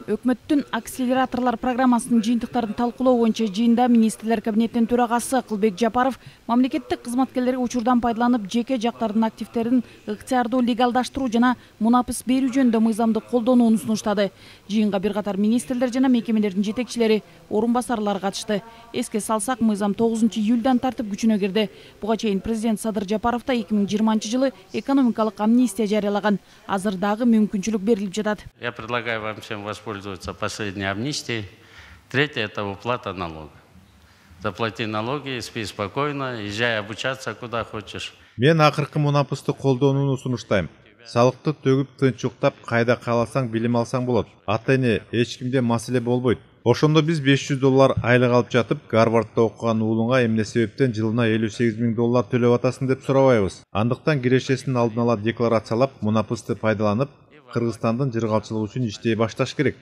Өкмөттүн акселераторлор программасынын жыйынтыктарын талкуулоо боюнча жыйында министрлер кабинетинин төрагасы Кылбек Жапаров мамлекеттик кызматкерлерге учурдан пайдаланып жеке жактардын активдерин ыктыярдуу легалдаштыруу жана мунапыс берүү жөнүндө мыйзамды колдонууну сунуштады. Жыйынга бир катар министрлер жана мекемелердин жетекчилери, орун басарлары катышты. Эске салсак, мыйзам 9-июлдан тартып күчүнө кирди. Буга чейин президент Садыр Жапаров да 2020-жылы экономикалык амнистия жарыялаган. Азыр дагы мүмкүнчүлүк берилип жатат. Я предлагаю вам всем воспользоваться последней амнистией. Третье – это уплата налога. Заплати налоги, спи спокойно, езжай обучаться куда хочешь. Мен акыркы мунапысты колдонууну сунуштайм. Салыкты төгүп тынчуктап, кайда кааласаң билим алсаң болот. Ата эне эч кимде маселе болбойт. Ошондо биз $500 айлык алып жатып, Гарвардда окуган уулуңа эмне себептен жылына $58,000 төлөп атасың деп сурабайбыз. Андыктан кирешесин алдын ала декларациялап, мунапысты пайдаланып, Кыргызстандын жыргалчылыгы үчүн иштей башташ керек.